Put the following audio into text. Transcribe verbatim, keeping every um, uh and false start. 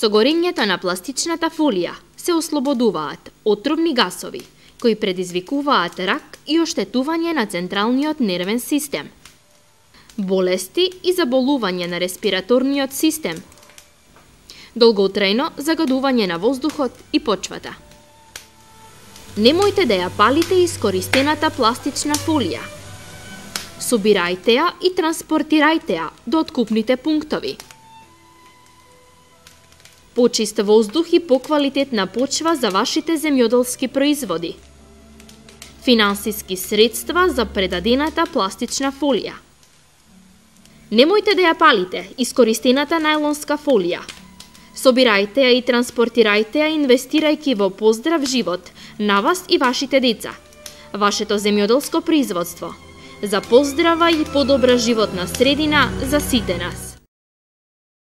Со горењето на пластичната фолија се ослободуваат отровни гасови, кои предизвикуваат рак и оштетување на централниот нервен систем, болести и заболување на респираторниот систем, долготрајно загадување на воздухот и почвата. Немојте да ја палите искористената пластична фолија. Собирајте ја и транспортирајте ја до откупните пунктови. Почист воздух и поквалитетна почва за вашите земјоделски производи. Финансиски средства за предадената пластична фолија. Немојте да ја палите искористената најлонска фолија. Собирајте ја и транспортирајте ја, инвестирајќи во поздрав живот на вас и вашите деца. Вашето земјоделско производство за поздрава и подобра животна средина за сите нас.